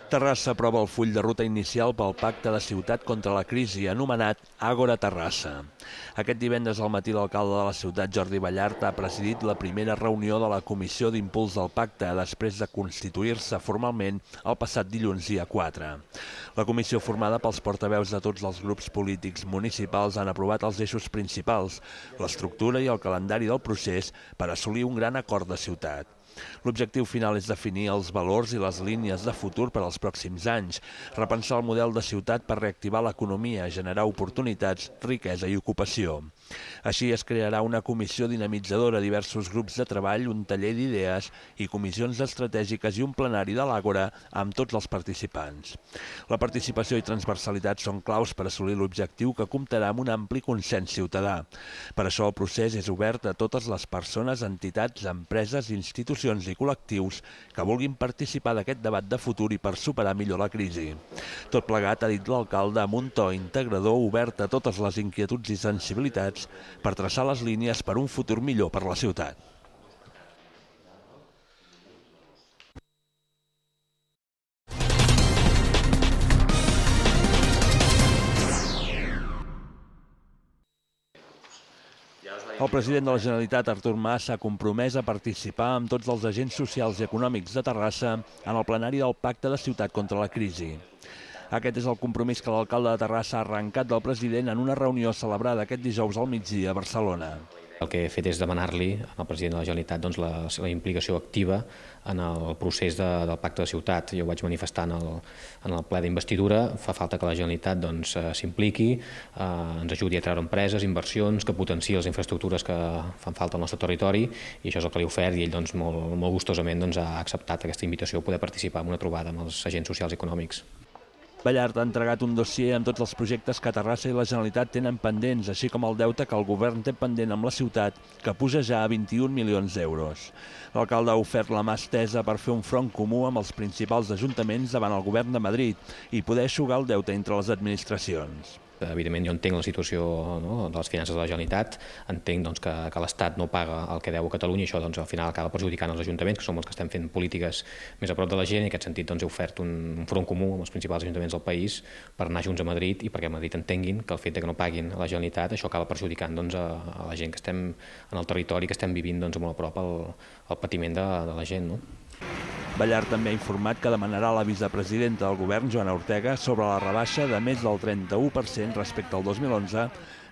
Terrassa aprova el full de ruta inicial pel Pacte de Ciutat contra la Crisi, anomenat Àgora Terrassa. Aquest divendres al matí l'alcalde de la ciutat, Jordi Ballart, ha presidit la primera reunió de la Comissió d'Impuls del Pacte després de constituir-se formalment el passat dilluns dia 4. La comissió, formada pels portaveus de tots els grups polítics municipals, han aprovat els eixos principals, l'estructura i el calendari del procés per assolir un gran acord de ciutat. L'objectiu final és definir els valors i les línies de futur per als pròxims anys, repensar el model de ciutat per reactivar l'economia, generar oportunitats, riquesa i ocupació. Així es crearà una comissió dinamitzadora, diversos grups de treball, un taller d'idees i comissions estratègiques i un plenari de l'Àgora amb tots els participants. La participació i transversalitat són claus per assolir l'objectiu, que comptarà amb un ampli consens ciutadà. Per això el procés és obert a totes les persones, entitats, empreses, institucions i col·lectius que vulguin participar d'aquest debat de futur i per superar millor la crisi. Tot plegat, ha dit l'alcalde, amb un to integrador, obert a totes les inquietuds i sensibilitats per traçar les línies per un futur millor per la ciutat. El president de la Generalitat, Artur Mas, s'ha compromès a participar amb tots els agents socials i econòmics de Terrassa en el plenari del Pacte de Ciutat contra la Crisi. Aquest és el compromís que l'alcalde de Terrassa ha arrencat del president en una reunió celebrada aquest dijous al migdia a Barcelona. El que he fet és demanar-li al president de la Generalitat la implicació activa en el procés del Pacte de Ciutat. Jo ho vaig manifestar en el ple d'investidura. Fa falta que la Generalitat s'impliqui, ens ajudi a treure empreses, inversions, que potenciï les infraestructures que fan falta al nostre territori, i això és el que li he ofert, i ell molt gustosament ha acceptat aquesta invitació a poder participar en una trobada amb els agents socials i econòmics. Ballart ha entregat un dossier amb tots els projectes que Terrassa i la Generalitat tenen pendents, així com el deute que el govern té pendent amb la ciutat, que puja ja a 21 milions d'euros. L'alcalde ha ofert la mà estesa per fer un front comú amb els principals ajuntaments davant el govern de Madrid i poder eixugar el deute entre les administracions. Evidentment, jo entenc la situació de les finances de la Generalitat, entenc que l'Estat no paga el que deu a Catalunya, i això al final acaba perjudicant els ajuntaments, que som els que estem fent polítiques més a prop de la gent, i en aquest sentit he ofert un front comú amb els principals ajuntaments del país per anar junts a Madrid i perquè a Madrid entenguin que el fet que no paguin a la Generalitat, això acaba perjudicant a la gent que estem en el territori, que estem vivint molt a prop el patiment de la gent. Ballart també ha informat que demanarà a la vicepresidenta del govern, Joana Ortega, sobre la rebaixa de més del 31% respecte al 2011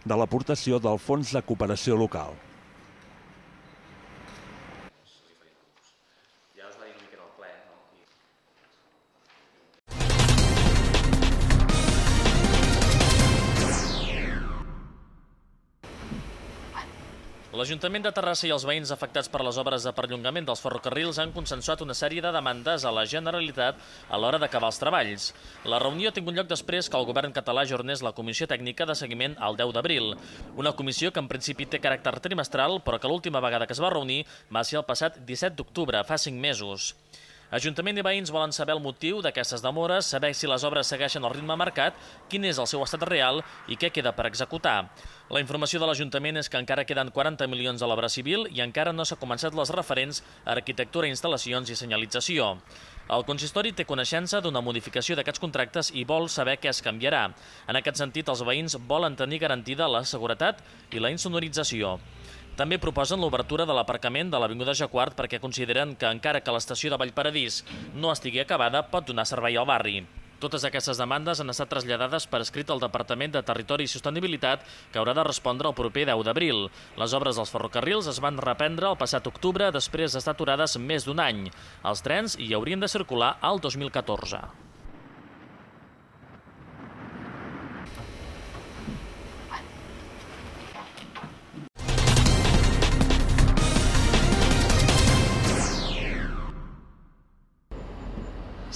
de l'aportació del Fons de Cooperació Local. L'Ajuntament de Terrassa i els veïns afectats per les obres de perllongament dels ferrocarrils han consensuat una sèrie de demandes a la Generalitat a l'hora d'acabar els treballs. La reunió ha tingut lloc després que el govern català ajornés la comissió tècnica de seguiment al 10 d'abril. Una comissió que en principi té caràcter trimestral, però que l'última vegada que es va reunir va ser el passat 17 d'octubre, fa 5 mesos. Ajuntament i veïns volen saber el motiu d'aquestes demores, saber si les obres segueixen el ritme marcat, quin és el seu estat real i què queda per executar. La informació de l'Ajuntament és que encara queden 40 milions a l'obra civil i encara no s'ha començat les referents a arquitectura, instal·lacions i senyalització. El consistori té coneixença d'una modificació d'aquests contractes i vol saber què es canviarà. En aquest sentit, els veïns volen tenir garantida la seguretat i la insonorització. També proposen l'obertura de l'aparcament de l'Avinguda Jacquard perquè consideren que encara que l'estació de Vallparadís no estigui acabada, pot donar servei al barri. Totes aquestes demandes han estat traslladades per escrit al Departament de Territori i Sostenibilitat, que haurà de respondre el proper 10 d'abril. Les obres dels ferrocarrils es van reprendre el passat octubre després d'estar aturades més d'un any. Els trens hi haurien de circular al 2014.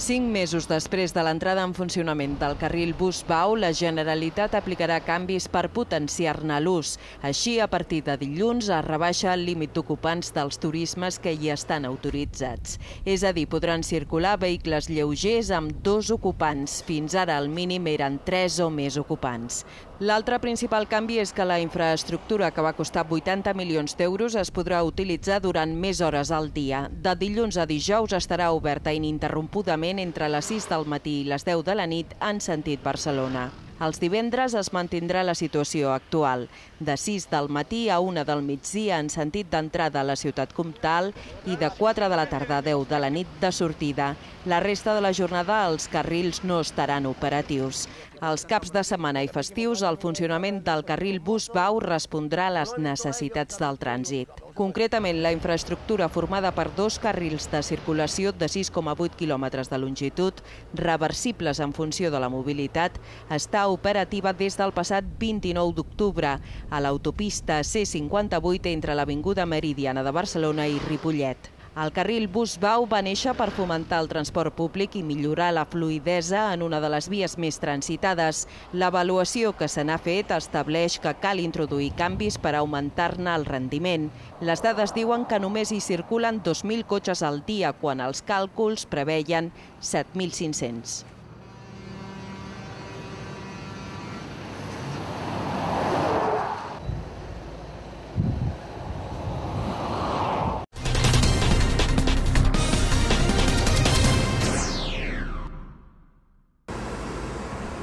5 mesos després de l'entrada en funcionament del carril bus-bau, la Generalitat aplicarà canvis per potenciar-ne l'ús. Així, a partir de dilluns, es rebaixa el límit d'ocupants dels turismes que hi estan autoritzats. És a dir, podran circular vehicles lleugers amb 2 ocupants. Fins ara el mínim eren 3 o més ocupants. L'altre principal canvi és que la infraestructura, que va costar 80 milions d'euros, es podrà utilitzar durant més hores al dia. De dilluns a dijous estarà oberta ininterrompudament funcionament entre les 6 del matí i les 10 de la nit en sentit Barcelona. Els divendres es mantindrà la situació actual, de 6 del matí a 1 del migdia en sentit d'entrada a la ciutat comtal i de 4 de la tarda a 10 de la nit de sortida. La resta de la jornada els carrils no estaran operatius. Els caps de setmana i festius, el funcionament del carril bus-bau respondrà a les necessitats del trànsit. Concretament, la infraestructura formada per 2 carrils de circulació de 6,8 quilòmetres de longitud, reversibles en funció de la mobilitat, està operativa des del passat 29 d'octubre a l'autopista C58 entre l'Avinguda Meridiana de Barcelona i Ripollet. El carril bus-bau va néixer per fomentar el transport públic i millorar la fluïdesa en una de les vies més transitades. L'avaluació que se n'ha fet estableix que cal introduir canvis per augmentar-ne el rendiment. Les dades diuen que només hi circulen 2.000 cotxes al dia, quan els càlculs preveien 7.500.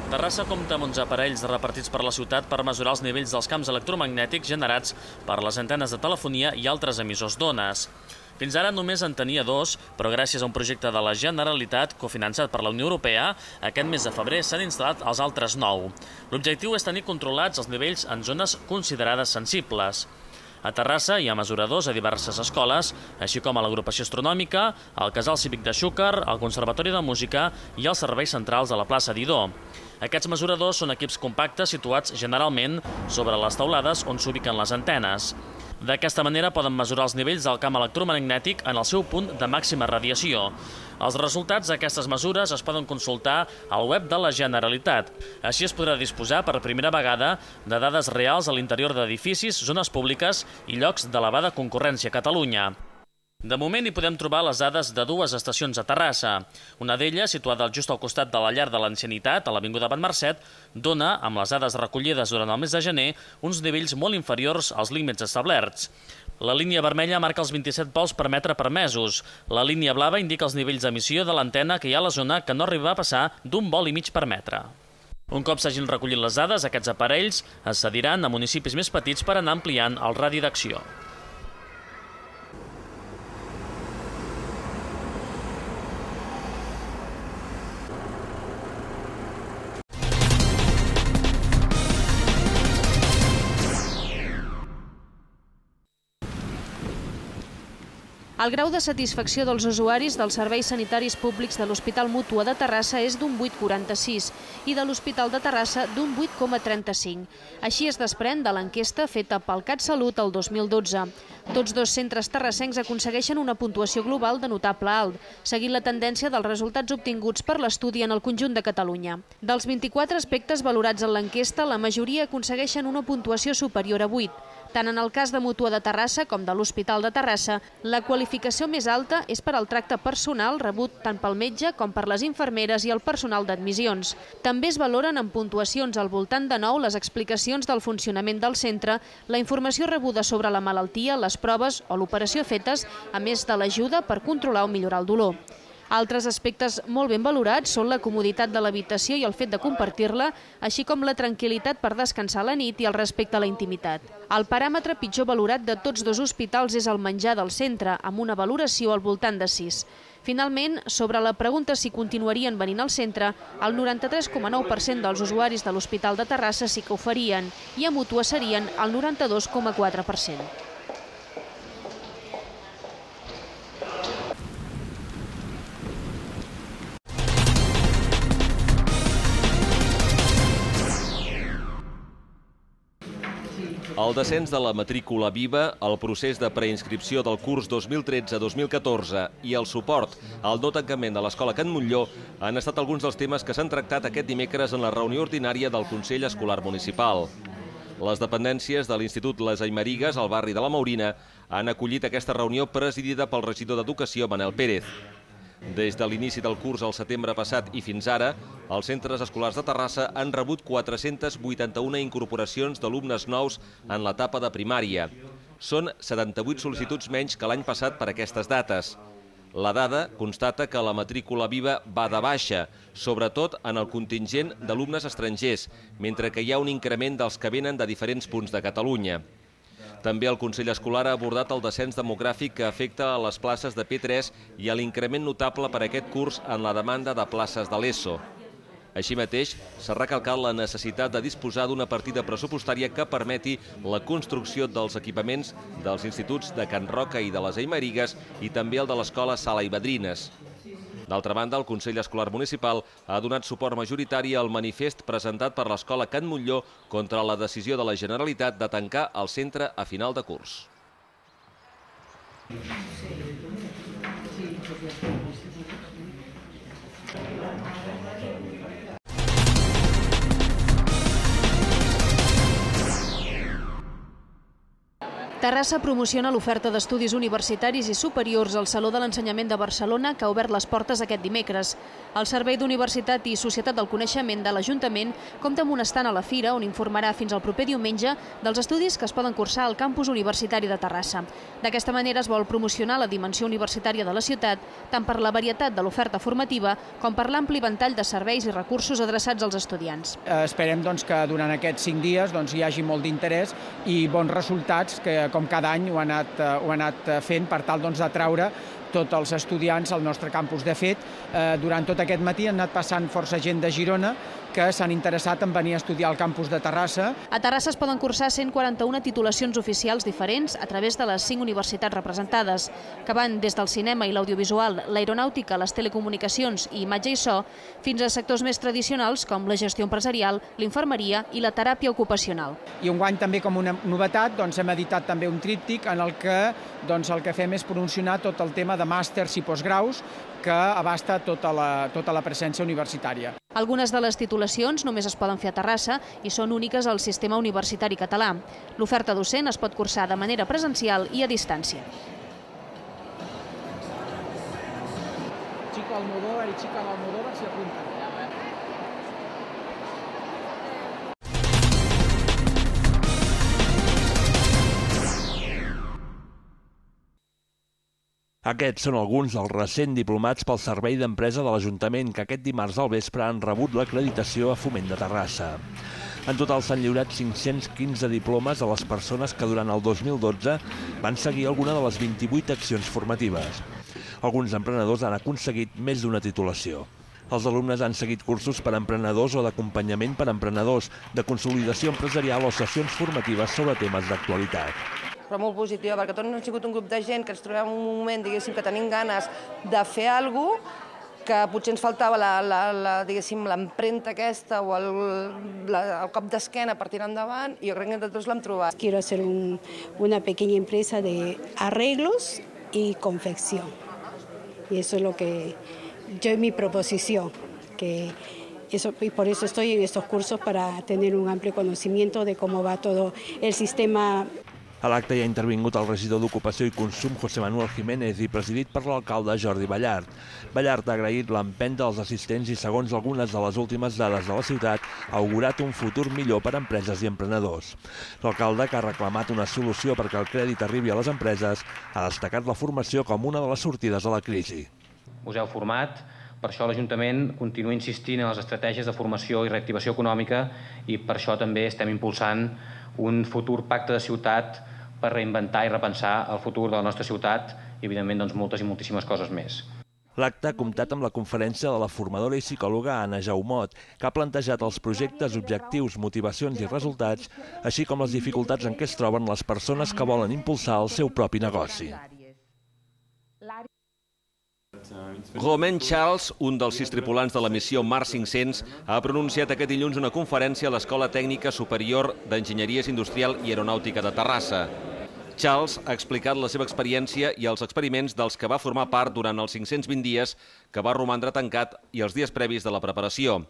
Terrassa compta amb 11 aparells repartits per la ciutat per mesurar els nivells dels camps electromagnètics generats per les antenes de telefonia i altres emissors d'ones. Fins ara només en tenia 2, però gràcies a un projecte de la Generalitat cofinançat per la Unió Europea, aquest mes de febrer s'han instal·lat els altres 9. L'objectiu és tenir controlats els nivells en zones considerades sensibles. A Terrassa hi ha mesuradors a diverses escoles, així com a l'Agrupació Astronòmica, el Casal Cívic de Xúquer, el Conservatori de Música i els serveis centrals de la plaça Didó. Aquests mesuradors són equips compactes situats generalment sobre les teulades on s'ubiquen les antenes. D'aquesta manera poden mesurar els nivells del camp electromagnètic en el seu punt de màxima radiació. Els resultats d'aquestes mesures es poden consultar al web de la Generalitat. Així es podrà disposar per primera vegada de dades reals a l'interior d'edificis, zones públiques i llocs d'elevada concurrència a Catalunya. De moment hi podem trobar les dades de 2 estacions a Terrassa. Una d'elles, situada just al costat de la llar de l'Ancianitat, a l'Avinguda Van Marcet, dona, amb les dades recollides durant el mes de gener, uns nivells molt inferiors als límits establerts. La línia vermella marca els 27 vols per metre per mesos. La línia blava indica els nivells d'emissió de l'antena que hi ha a la zona, que no arriba a passar d'1 vol i mig per metre. Un cop s'hagin recollit les dades, aquests aparells es cediran a municipis més petits per anar ampliant el radi d'acció. El grau de satisfacció dels usuaris dels serveis sanitaris públics de l'Hospital Mútua de Terrassa és d'un 8,46 i de l'Hospital de Terrassa d'un 8,35. Així es desprèn de l'enquesta feta pel CatSalut el 2012. Tots 2 centres terrassencs aconsegueixen una puntuació global de notable alt, seguint la tendència dels resultats obtinguts per l'estudi en el conjunt de Catalunya. Dels 24 aspectes valorats en l'enquesta, la majoria aconsegueixen una puntuació superior a 8. Tant en el cas de Mútua de Terrassa com de l'Hospital de Terrassa, la qualificació més alta és per al tracte personal rebut tant pel metge com per les infermeres i el personal d'admissions. També es valoren amb puntuacions al voltant de 9 les explicacions del funcionament del centre, la informació rebuda sobre la malaltia, les proves o l'operació fetes, a més de l'ajuda per controlar o millorar el dolor. Altres aspectes molt ben valorats són la comoditat de l'habitació i el fet de compartir-la, així com la tranquil·litat per descansar a la nit i el respecte a la intimitat. El paràmetre pitjor valorat de tots 2 hospitals és el menjar del centre, amb una valoració al voltant de 6. Finalment, sobre la pregunta si continuarien venint al centre, el 93,9% dels usuaris de l'Hospital de Terrassa sí que ho farien i a Mútua serien el 92,4%. El descens de la matrícula viva, el procés de preinscripció del curs 2013-2014 i el suport al no tancament de l'Escola Can Montllor han estat alguns dels temes que s'han tractat aquest dimecres en la reunió ordinària del Consell Escolar Municipal. Les dependències de l'Institut Les Aymerigues, al barri de la Maurina, han acollit aquesta reunió presidida pel regidor d'Educació, Manel Pérez. Des de l'inici del curs al setembre passat i fins ara, els centres escolars de Terrassa han rebut 481 incorporacions d'alumnes nous en l'etapa de primària. Són 78 sol·licituds menys que l'any passat per aquestes dates. La dada constata que la matrícula viva va de baixa, sobretot en el contingent d'alumnes estrangers, mentre que hi ha un increment dels que venen de diferents punts de Catalunya. També el Consell Escolar ha abordat el descens demogràfic que afecta a les places de P3 i a l'increment notable per aquest curs en la demanda de places de l'ESO. Així mateix, s'ha recalcat la necessitat de disposar d'una partida pressupostària que permeti la construcció dels equipaments dels instituts de Can Roca i de les Aymerigues i també el de l'escola Sala i Vedrines. D'altra banda, el Consell Escolar Municipal ha donat suport majoritari al manifest presentat per l'escola Can Montllor contra la decisió de la Generalitat de tancar el centre a final de curs. Terrassa promociona l'oferta d'estudis universitaris i superiors al Saló de l'Ensenyament de Barcelona, que ha obert les portes aquest dimecres. El Servei d'Universitat i Societat del Coneixement de l'Ajuntament compta amb un estand a la fira on informarà fins al proper diumenge dels estudis que es poden cursar al campus universitari de Terrassa. D'aquesta manera es vol promocionar la dimensió universitària de la ciutat, tant per la varietat de l'oferta formativa com per l'ampli ventall de serveis i recursos adreçats als estudiants. Esperem que durant aquests 5 dies hi hagi molt d'interès i bons resultats que, com cada any, ho ha anat fent per tal d'atraure tots els estudiants al nostre campus. De fet, durant tot aquest matí han anat passant força gent de Girona que s'han interessat en venir a estudiar al campus de Terrassa. A Terrassa es poden cursar 141 titulacions oficials diferents a través de les 5 universitats representades, que van des del cinema i l'audiovisual, l'aeronàutica, les telecomunicacions i imatge i so, fins a sectors més tradicionals com la gestió empresarial, l'infermeria i la teràpia ocupacional. I enguany també, com una novetat, hem editat també un tríptic en el que el que fem és promocionar tot el tema de màsters i postgraus que abasta tota la presència universitària. Algunes de les titulacions només es poden fer a Terrassa i són úniques al sistema universitari català. L'oferta docent es pot cursar de manera presencial i a distància. Chica Almodóvar i Chica Almodóvar s'hi apunten. Aquests són alguns dels recent diplomats pel Servei d'Empresa de l'Ajuntament que aquest dimarts al vespre han rebut l'acreditació a Foment de Terrassa. En total s'han lliurat 515 diplomes a les persones que durant el 2012 van seguir alguna de les 28 accions formatives. Alguns emprenedors han aconseguit més d'una titulació. Els alumnes han seguit cursos per a emprenedors o d'acompanyament per a emprenedors, de consolidació empresarial o sessions formatives sobre temes d'actualitat. Però molt positiva, perquè tots hem sigut un grup de gent que ens trobem en un moment, diguéssim, que tenim ganes de fer alguna cosa, que potser ens faltava l'empremta aquesta o el cop d'esquena per tirar endavant, i jo crec que tots l'hem trobat. Quiero hacer una pequeña empresa de arreglos y confección. Y eso es lo que yo mi proposición, y por eso estoy en estos cursos, para tener un amplio conocimiento de cómo va todo el sistema. A l'acte hi ha intervingut el regidor d'Ocupació i Consum, José Manuel Jiménez, i presidit per l'alcalde Jordi Ballart. Ballart ha agraït l'empenta dels assistents i, segons algunes de les últimes dades de la ciutat, ha augurat un futur millor per a empreses i emprenedors. L'alcalde, que ha reclamat una solució perquè el crèdit arribi a les empreses, ha destacat la formació com una de les sortides a la crisi. Us heu format, per això l'Ajuntament continua insistint en les estratègies de formació i reactivació econòmica, i per això també estem impulsant un futur pacte de ciutat per reinventar i repensar el futur de la nostra ciutat i, evidentment, moltes i moltíssimes coses més. L'acte ha comptat amb la conferència de la formadora i psicòloga Anna Jaumot, que ha plantejat els projectes, objectius, motivacions i resultats, així com les dificultats en què es troben les persones que volen impulsar el seu propi negoci. Romain Charles, un dels 6 tripulants de la missió Mars 500, ha pronunciat aquest dilluns una conferència a l'Escola Tècnica Superior d'Enginyeria Industrial i Aeronàutica de Terrassa. Charles ha explicat la seva experiència i els experiments dels que va formar part durant els 520 dies que va romandre tancat i els dies previs de la preparació.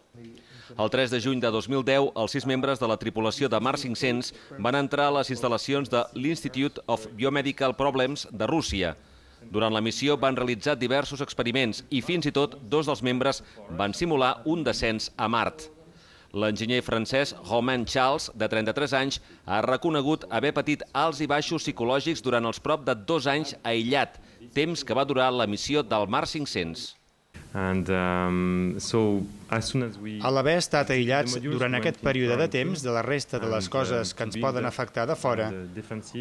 El 3 de juny de 2010, els 6 membres de la tripulació de Mars 500 van entrar a les instal·lacions de l'Institute of Biomedical Problems de Rússia. Durant la missió van realitzar diversos experiments i fins i tot 2 dels membres van simular un descens a Mart. L'enginyer francès Romain Charles, de 33 anys, ha reconegut haver patit alts i baixos psicològics durant els prop de 2 anys aïllat, temps que va durar la missió del Mars 500. A l'haver estat aïllats durant aquest període de temps de la resta de les coses que ens poden afectar de fora,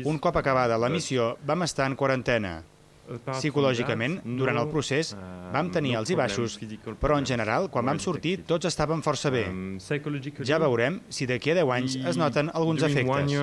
un cop acabada la missió vam estar en quarantena. Psicològicament, durant el procés, vam tenir alts i baixos, però en general, quan vam sortir, tots estàvem força bé. Ja veurem si d'aquí a 10 anys es noten alguns efectes.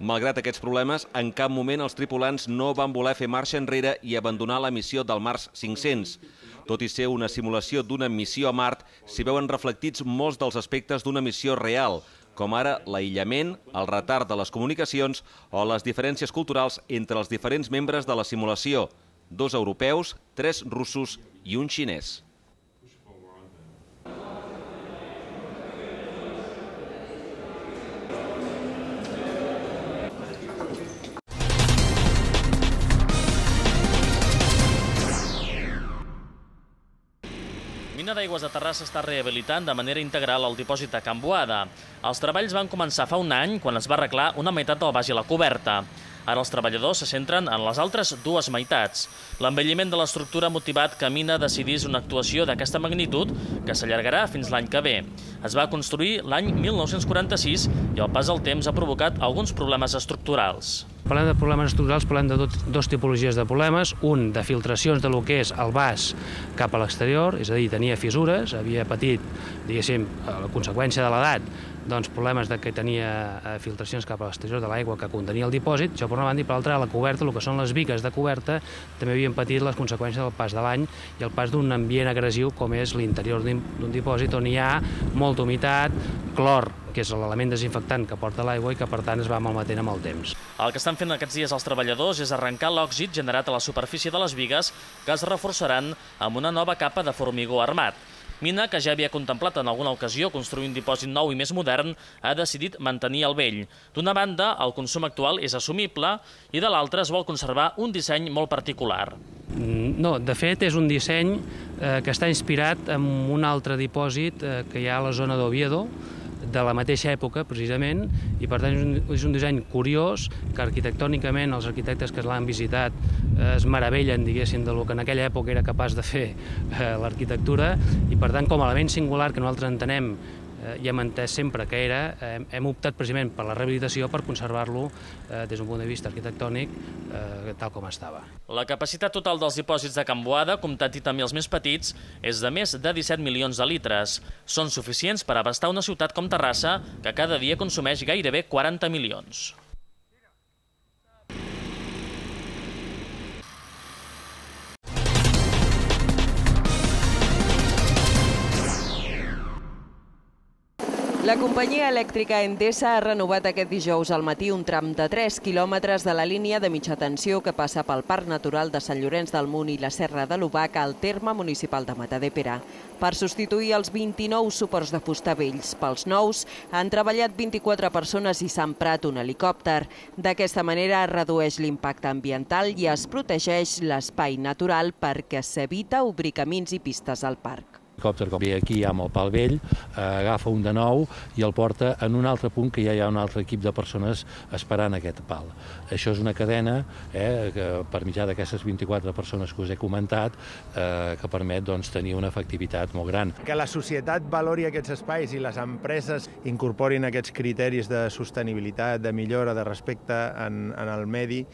Malgrat aquests problemes, en cap moment els tripulants no van voler fer marxa enrere i abandonar la missió del Mars 500. Tot i ser una simulació d'una missió a Mart, s'hi veuen reflectits molts dels aspectes d'una missió real, com ara l'aïllament, el retard de les comunicacions o les diferències culturals entre els diferents membres de la simulació, 2 europeus, 3 russos i un xinès. Mina d'Aigües de Terrassa està rehabilitant de manera integral el dipòsit de Can Boada. Els treballs van començar fa un any, quan es va arreglar una meitat del baix i la coberta. Ara els treballadors se centren en les altres 2 meitats. L'envelliment de l'estructura ha motivat que Mina decidís una actuació d'aquesta magnitud que s'allargarà fins l'any que ve. Es va construir l'any 1946 i el pas del temps ha provocat alguns problemes estructurals. Parlem de problemes estructurals, parlem de 2 tipologies de problemes. Un, de filtracions de lo que és el vas cap a l'exterior, és a dir, tenia fissures, havia patit, diguéssim, a la conseqüència de l'edat, doncs problemes de que tenia filtracions cap a l'exterior de l'aigua que contenia el dipòsit. Això per una banda, i per l'altra, a la coberta, el que són les bigues de coberta, també havien patit les conseqüències del pas de l'any i el pas d'un ambient agressiu com és l'interior d'un dipòsit on hi ha molta humitat, clor, que és l'element desinfectant que porta l'aigua i que, per tant, es va malmetent amb el temps. El que estan fent aquests dies els treballadors és arrencar l'òxid generat a la superfície de les bigues que es reforçaran amb una nova capa de formigó armat. Mina, que ja havia contemplat en alguna ocasió construir un dipòsit nou i més modern, ha decidit mantenir el vell. D'una banda, el consum actual és assumible i de l'altra es vol conservar un disseny molt particular. No, de fet, és un disseny que està inspirat en un altre dipòsit que hi ha a la zona d'Oviedo, de la mateixa època, precisament, i per tant és un disseny curiós que arquitectònicament els arquitectes que l'han visitat es meravellen, diguéssim, del que en aquella època era capaç de fer l'arquitectura, i per tant, com a element singular que nosaltres entenem i hem entès sempre que era, hem optat precisament per la rehabilitació per conservar-lo des d'un punt de vista arquitectònic tal com estava. La capacitat total dels dipòsits de Can Boada, comptant-hi també els més petits, és de més de 17 milions de litres. Són suficients per abastar una ciutat com Terrassa, que cada dia consumeix gairebé 40 milions. La companyia elèctrica Endesa ha renovat aquest dijous al matí un tram de 3 quilòmetres de la línia de mitja tensió que passa pel Parc Natural de Sant Llorenç del Munt i la Serra de l'Obac al terme municipal de Matadepera. Per substituir els 29 suports de fusta vells pels nous, han treballat 24 persones i s'ha emprat un helicòpter. D'aquesta manera es redueix l'impacte ambiental i es protegeix l'espai natural perquè s'evita obrir camins i pistes al parc. L'helicòpter, com ve aquí amb el pal vell, agafa un de nou i el porta en un altre punt que ja hi ha un altre equip de persones esperant aquest pal. Això és una cadena que per mitjà d'aquestes 24 persones que us he comentat que permet tenir una efectivitat molt gran. Que la societat valori aquests espais i les empreses incorporin aquests criteris de sostenibilitat, de millora, de respecte en el medi,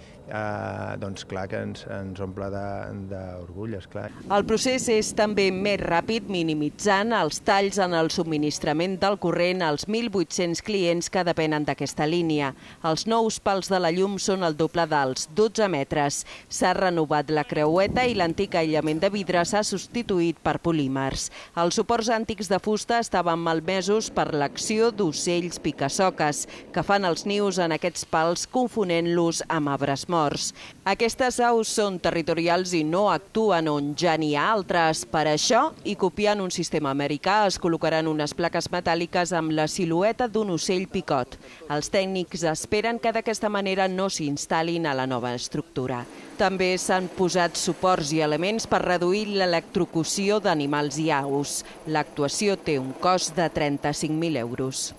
doncs clar que ens omple d'orgull, esclar. El procés és també més ràpid, minimitzant els talls en el subministrament del corrent als 1.800 clients que depenen d'aquesta línia. Els nous pals de la llum són el doble dels 12 metres. S'ha renovat la creueta i l'antic aïllament de vidre s'ha substituït per polímers. Els suports antics de fusta estaven malmesos per l'acció d'ocells picasoques, que fan els nius en aquests pals confonent-los amb arbres morts. Aquestes aus són territorials i no actuen on ja n'hi ha altres. Per això, i copiant un sistema americà, es col·locaran unes plaques metàl·liques amb la silueta d'un ocell picot. Els tècnics esperen que d'aquesta manera no s'instal·lin a la nova estructura. També s'han posat suports i elements per reduir l'electrocució d'animals i aus. L'actuació té un cost de 35.000 euros.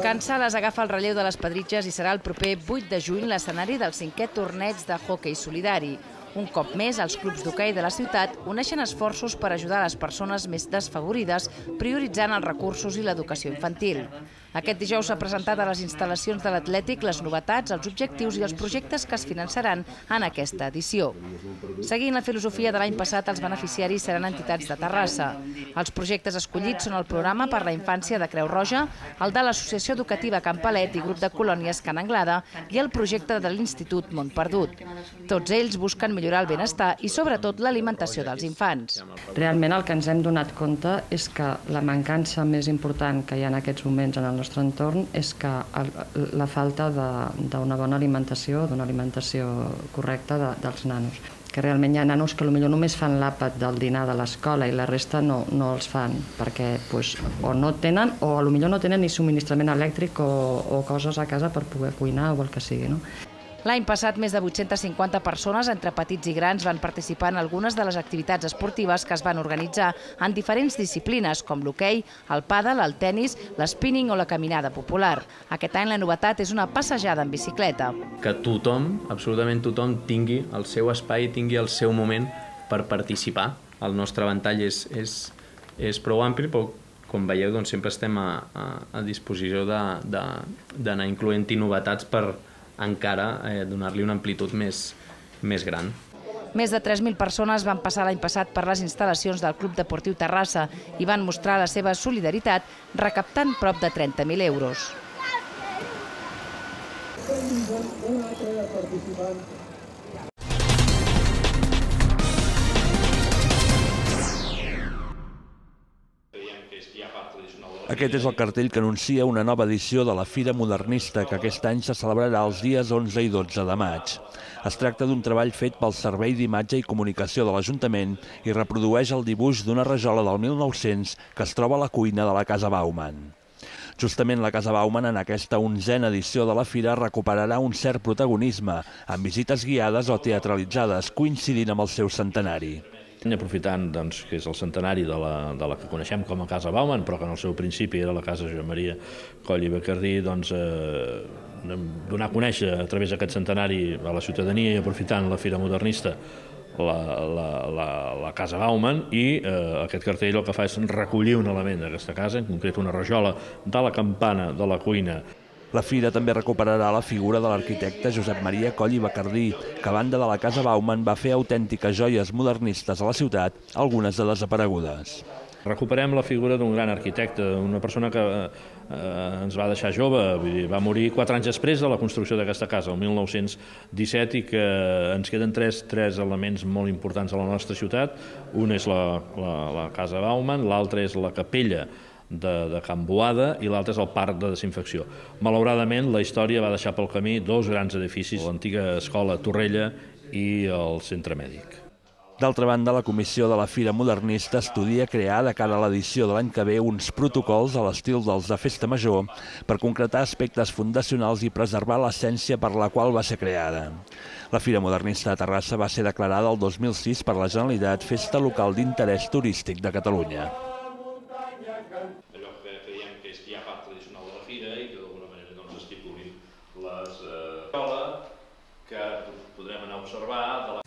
Can Sales agafa el relleu de les Pedritges i serà el proper 8 de juny l'escenari del 5è torneig de hoquei solidari. Un cop més, els clubs d'hoquei de la ciutat uneixen esforços per ajudar les persones més desfavorides, prioritzant els recursos i l'educació infantil. Aquest dijous s'ha presentat a les instal·lacions de l'Atlètic les novetats, els objectius i els projectes que es finançaran en aquesta edició. Seguint la filosofia de l'any passat, els beneficiaris seran entitats de Terrassa. Els projectes escollits són el programa per la infància de Creu Roja, el de l'Associació Educativa Can Palet i Grup de Colònies Can Anglada i el projecte de l'Institut Mont Perdut. Tots ells busquen millorar el benestar i sobretot l'alimentació dels infants. Realment el que ens hem donat compte és que la mancança més important que hi ha en aquests moments en el nostre entorn és que la falta d'una bona alimentació, d'una alimentació correcta dels nanos. Que realment hi ha nanos que potser només fan l'àpat del dinar de l'escola i la resta no els fan, perquè o no tenen o potser no tenen ni subministrament elèctric o coses a casa per poder cuinar o el que sigui, no? L'any passat, més de 850 persones, entre petits i grans, van participar en algunes de les activitats esportives que es van organitzar en diferents disciplines, com l'hoquei, el pàdel, el tennis, l'spinning o la caminada popular. Aquest any la novetat és una passejada en bicicleta. Que tothom, absolutament tothom, tingui el seu espai, tingui el seu moment per participar. El nostre ventall és prou ampli, però com veieu doncs, sempre estem a disposició d'anar incloent-hi novetats per encara donar-li una amplitud més gran. Més de 3.000 persones van passar l'any passat per les instal·lacions del Club Deportiu Terrassa i van mostrar la seva solidaritat recaptant prop de 30.000 euros. Aquest és el cartell que anuncia una nova edició de la Fira Modernista, que aquest any se celebrarà els dies 11 i 12 de maig. Es tracta d'un treball fet pel Servei d'Imatge i Comunicació de l'Ajuntament i reprodueix el dibuix d'una rajola del 1900 que es troba a la cuina de la Casa Bauman. Justament la Casa Bauman en aquesta 11a edició de la Fira recuperarà un cert protagonisme, amb visites guiades o teatralitzades, coincidint amb el seu centenari. Aprofitant que és el centenari de la que coneixem com a Casa Bauman, però que en el seu principi era la Casa Josep Maria Coll i Bacardí, donar a conèixer a través d'aquest centenari a la ciutadania i aprofitant la Fira Modernista la Casa Bauman, i aquest cartell el que fa és recollir un element d'aquesta casa, en concret una rajola de la campana de la cuina. La fira també recuperarà la figura de l'arquitecte Josep Maria Coll i Bacardí, que a banda de la Casa Bauman va fer autèntiques joies modernistes a la ciutat, algunes de desaparegudes. Recuperem la figura d'un gran arquitecte, una persona que ens va deixar jove, va morir 4 anys després de la construcció d'aquesta casa, el 1917, i que ens queden tres elements molt importants a la nostra ciutat. Un és la Casa Bauman, l'altre és la capella de Can Boada i l'altre és el parc de desinfecció. Malauradament, la història va deixar pel camí 2 grans edificis, l'antiga escola Torrella i el centre mèdic. D'altra banda, la Comissió de la Fira Modernista estudia crear de cara a l'edició de l'any que ve uns protocols a l'estil dels de Festa Major per concretar aspectes fundacionals i preservar l'essència per la qual va ser creada. La Fira Modernista de Terrassa va ser declarada el 2006 per la Generalitat Festa Local d'Interès Turístic de Catalunya. Allò que creiem que és ja part tradicional de la fira i que d'alguna manera estipulin les que podrem anar a observar